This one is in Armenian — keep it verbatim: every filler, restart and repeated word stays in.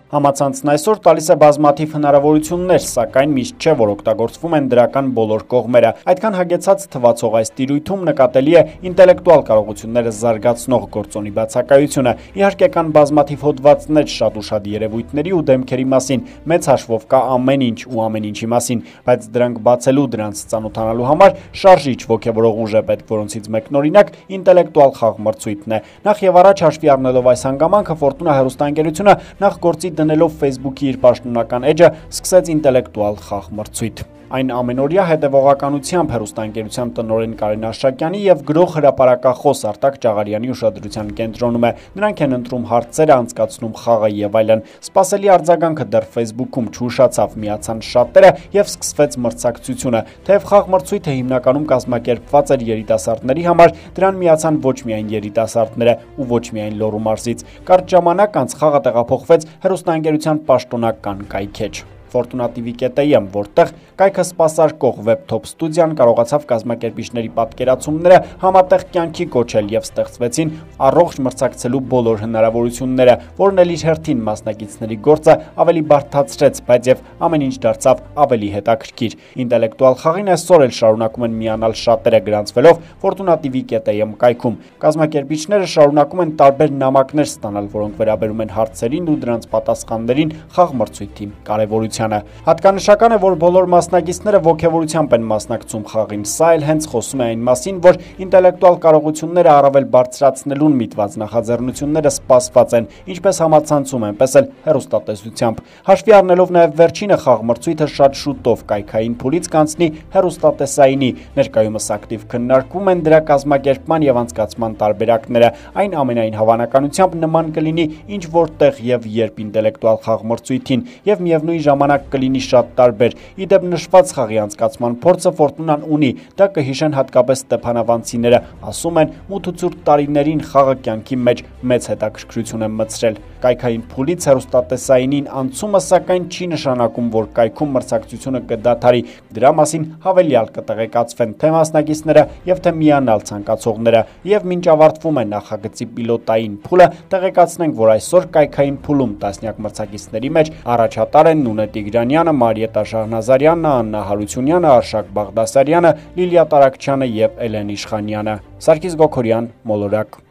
Համացանցն այսօր տալիս է բազմաթիվ հնարավորություններ, սակայն միշտ չէ, որ օգտագործվում են դրական բոլոր կողմերը։ Այդքան հագեցած թվացող այս տիրույթում նկատելի է ինտելեկտուալ կարողությունները զարգացնող գործոնի բացակայությունը։ Իհարկե կան բազմաթիվ հոդվածներ շատ ուշադիր երևույթների ու դեմքերի մասին, մեծ հաշվով կա ամեն ինչ ու ամեն ինչի մասին, բայց դրանք բացելու, դրանց ծանոթանալու համար շարժիչ ոգևորող ուժ է պետք, որոնցից մեկն օրինակ ինտելեկտուալ խաղմրցույթն է։ Նախ եւ առաջ հաշվի առնելով այս հանգամանքը, Ֆորտունա հեռուստաընկերությունը նախ գործի դնելով Facebook-ի իր պաշտոնական էջը սկսեց ինտելեկտուալ խաղմրցույթ։ Այն ամենօրյա հետևողականությամբ հեռուստաընկերության տնօրեն Կարեն Արշակյանի եւ գրող հրապարակախոս Արտակ Ճաղարյանի ուշադրության կենտրոնում է։ Նրանք են ընտրում հարցերը, անցկացնում խաղը եւ այլն։ Սպասելի արձագանքը դեռ Facebook-ում չուշացավ, միացան շատերը եւ սկսվեց մրցակցությունը։ Թեև խաղմրցույթը հիմնականում կազմակերպված էր երիտասարդների համար, դրան միացան ոչ միայն երիտասարդները ու ոչ միայն Լոռու մարզից։ Կարճ ժամանակ անց խաղը տեղափոխվեց հեռուստաընկերության պաշտոնական կայքեջ Ֆորտունա T V.am, որտեղ կայքը սպասարկող Webtop ստուդիան կարողացավ կազմակերպիչների պատկերացումները համատեղ կյանքի կոչել եւ ստեղծվեցին առողջ մրցակցելու բոլոր հնարավորությունները, որն էլ իր հերթին մասնակիցների գործը ավելի բարդացրեց, բայց եւ ամեն ինչ դարձավ ավելի հետաքրքիր։ Ինտելեկտուալ խաղին այսօր էլ շարունակում են միանալ շատերը, գրանցվելով Ֆորտունա T V.am կայքում։ Կազմակերպիչները շարունակում են տարբեր նամակներ ստանալ, որոնք վերաբերում են հարցերին ու դրանց պատասխաններին խաղմրցույթի կարևորությանը։ Հատկանշական է, որ բոլոր մասնակիցները ոգևորությամբ են մասնակցում խաղին։ Սա էլ հենց խոսում է այն մասին, որ ինտելեկտուալ կարողությունները առավել բարձրացնելուն միտված նախաձեռնությունները սպասված են, ինչպես համացանցում, այնպես էլ հեռուստատեսությամբ։ Հաշվի առնելով նաև վերջինը խաղմրցույթը շատ շուտով կայքային փուլից կանցնի հեռուստատեսայինի, ներկայումս ակտիվ քննարկվում են դրա կազմակերպման եւ անցկացման տարբերակները։ Այն ամենայն հավանականությամբ նման կլինի ինչ որտեղ եւ երբ ինտելեկտուալ խաղմրցույթին եւ միևնույն ժամանակ կլինի շատ տարբեր։ Իդեպ նշված խաղի անցկացման փորձը Ֆորտունան ունի, դա կհիշեն հատկապես ստեփանավանցիները, ասում են մութուցուրտ տարիներին խաղը կյանքի մեջ մեծ հետաքրքրություն է մտցրել։ Կայքային փուլից հեռուստատեսայինին անցումը սակայն չի նշանակում, որ կայքում մրցակցությունը կդադարի։ Դրա մասին հավելյալ կտեղեկացվեն թե մասնակիցները եւ թե միանալ ցանկացողները։ Եվ մինչ ավարտվում է նախագծի պիլոտային փուլը, տեղեկացնենք, որ այսօր կայքային փուլում տասնյակ մրցակիցների մեջ առաջատար են Նունե Տիգրանյանը, Մարիետա Շահնազարյանը, Աննա Հարությունյանը, Արշակ Բաղդասարյանը, Լիլիա Տարակչյանը եւ Էլեն Իշխանյանը։ Սարգիս Գոքորյան, Մոլորակ։